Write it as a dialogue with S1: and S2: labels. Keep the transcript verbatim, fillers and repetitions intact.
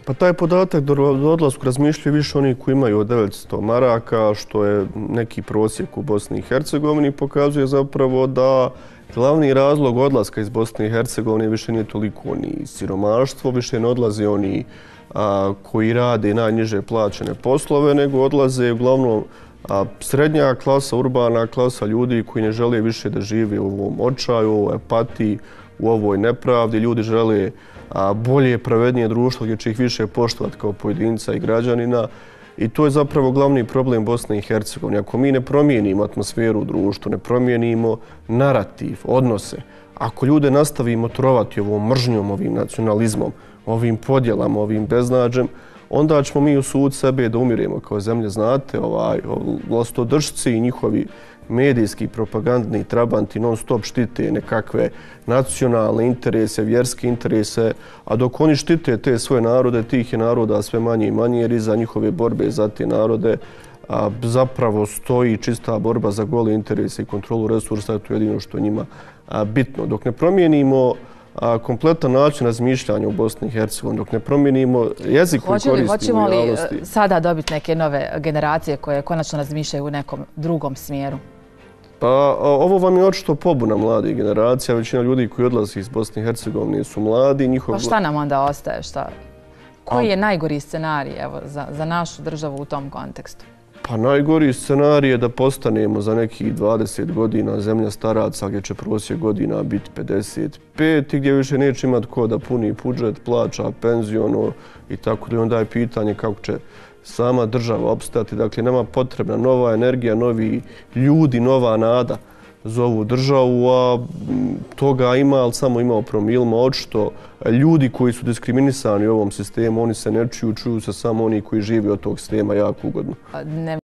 S1: Pa taj podatak do odlasku razmišljaju više oni koji imaju od devetsto maraka, što je neki prosjek u Bosni i Hercegovini, pokazuje zapravo da glavni razlog odlaska iz Bosne i Hercegovine više nije toliko ni siromaštvo, više ne odlaze oni a, koji rade najniže plaćene poslove, nego odlaze uglavnom a, srednja klasa, urbana klasa ljudi koji ne žele više da žive u ovom očaju, u ovoj apatiji, u ovoj nepravdi. Ljudi žele a, bolje, pravednije društvo gdje će ih više poštovati kao pojedinca i građanina. I to je zapravo glavni problem Bosne i Hercegovine. Ako mi ne promijenimo atmosferu u društvu, ne promijenimo narativ, odnose, ako ljude nastavimo trovati ovom mržnjom, ovim nacionalizmom, ovim podjelama, ovim beznađem, onda ćemo mi u sud sebe da umiremo kao zemlje. Znate, ovaj, vlastodržci i njihovi medijski, propagandni trabanti non stop štite nekakve nacionalne interese, vjerske interese, a dok oni štite te svoje narode, tih je naroda sve manje i manje, jer iza njihove borbe za te narode a, zapravo stoji čista borba za gole interese i kontrolu resursa, to je jedino što je njima a, bitno. Dok ne promijenimo a, kompletan način razmišljanja u Bosni i Hercegovini, dok ne promijenimo jezik koji koristimo
S2: Hoćemo
S1: u javnosti.
S2: li sada dobiti neke nove generacije koje konačno razmišljaju u nekom drugom smjeru?
S1: Pa ovo vam je očito pobuna mladih generacija. Većina ljudi koji odlazi iz Bosne i Hercegovine su mladi. Njihov...
S2: Pa šta nam onda ostaje? Šta? Koji je najgori scenarij evo, za, za našu državu u tom kontekstu?
S1: Pa najgori scenarij je da postanemo za nekih dvadeset godina zemlja staraca gdje će prosjek godina biti pedeset pet i gdje više neće imati ko da puni budžet, plaća, penziono i tako da. Onda je pitanje kako će sama država opstati. Dakle, nama potrebna nova energija, novi ljudi, nova nada za ovu državu, a toga ima, ali samo ima o promilima. Očito ljudi koji su diskriminisani u ovom sistemu, oni se ne čuju, čuju se samo oni koji žive od tog sistema jako ugodno.